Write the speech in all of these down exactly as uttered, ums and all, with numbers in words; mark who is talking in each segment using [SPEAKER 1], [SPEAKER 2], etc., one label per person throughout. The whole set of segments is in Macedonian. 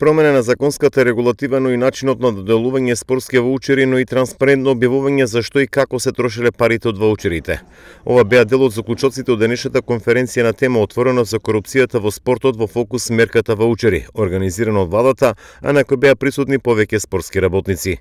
[SPEAKER 1] Промена на законската регулатива, но и начинот на доделување спортски ваучери, но и транспарентно објавување за што и како се трошеле парите од ваучерите. Ова беа дел од заклучоците од денешната конференција на тема отворена за корупцијата во спортот во фокус мерката ваучери, организирана од владата, а на кој беа присутни повеќе спортски работници.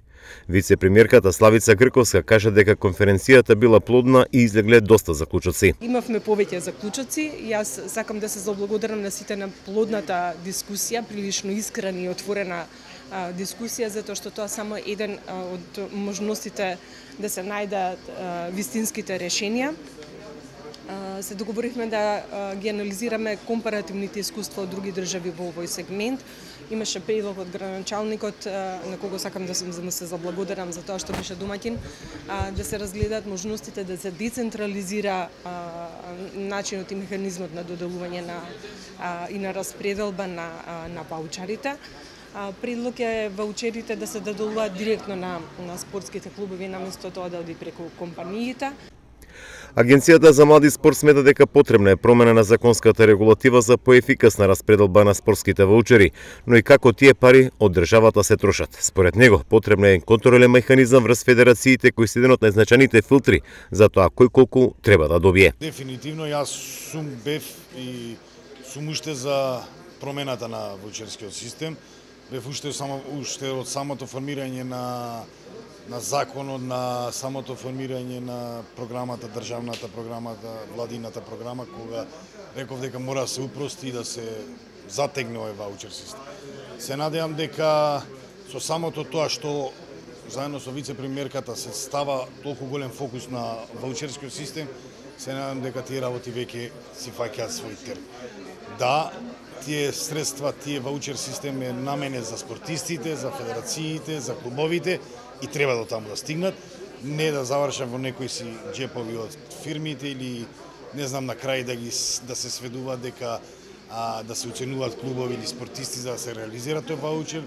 [SPEAKER 1] Вице-премиерката Славица Грковска кажа дека конференцијата била плодна и излегле доста заклучоци.
[SPEAKER 2] Имавме повеќе заклучоци. Јас сакам да се заблагодарам на сите на плодната дискусија, прилично искрена и отворена а, дискусија, затоа што тоа само еден а, од можностите да се најдат а, вистинските решенија. А, се договоривме да а, ги анализираме компаративните искуства од други држави во овој сегмент. Имаше предлог од градоначалникот, на кого сакам да се заблагодарам за тоа што беше домаќин, да се разгледат можностите да се децентрализира начинот и механизмот на доделување на и на распределба на на ваучерите. Предлог е ваучерите да се доделуваат директно на на спортските клубови наместо тоа да оди преку компаниите.
[SPEAKER 1] Агенцијата за млади спорт смета дека потребна е промена на законската регулатива за поефикасна распределба на спортските ваучери, но и како тие пари од државата се трошат. Според него, потребна е контролен механизам врз федерациите кои се еден од најзначајните филтри за тоа кој колку треба да добие.
[SPEAKER 3] Дефинитивно јас сум бев и сум уште за промената на ваучерскиот систем. Бев уште само уште од самото формирање на на законот, на самото формирање на програмата, државната програмата, владината програма, кога реков дека мора да се упрости и да се затегне овој ваучер систем. Се надевам дека со самото тоа што заедно со вице-премиерката се става толку голем фокус на ваучерскиот систем, се надевам дека тие работи веќе си фаќаат свој терм. Да, тие средства, тие ваучер систем е наменет за спортистите, за федерациите, за клубовите и треба до таму да стигнат, не да завршат во некои си џепови од фирмите или не знам на крај да ги да се сведува дека а, да се оценуваат клубови или спортисти за да се реализира тој ваучер.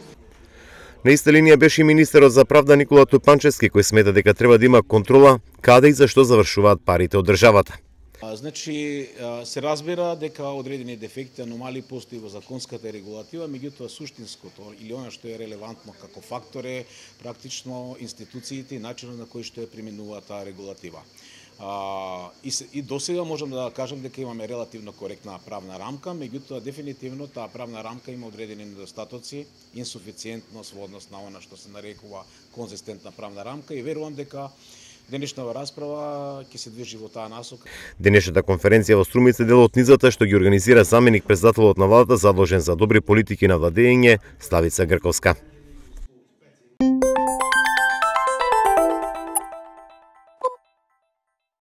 [SPEAKER 1] На иста линија беше и министерот за правда Никола Тупанчевски, кој смета дека треба да има контрола каде и зашто завршуваат парите од државата.
[SPEAKER 4] Значи, се разбира дека одредени дефекти, аномалии постои во законската регулатива, меѓутоа суштинското или она што е релевантно како фактор е практично институциите и начинот на кој што е применува таа регулатива. А, и, и досега можам да кажам дека имаме релативно коректна правна рамка, меѓутоа дефинитивно таа правна рамка има одредени недостатоци, инсуфициентност во однос на она што се нарекува конзистентна правна рамка и верувам дека денешната расправа ќе се движи во таа насока.
[SPEAKER 1] Денешната конференција во Струмица дел од низата што ги организира заменик председателот на владата задолжен за добри политики на владење Славица Грковска.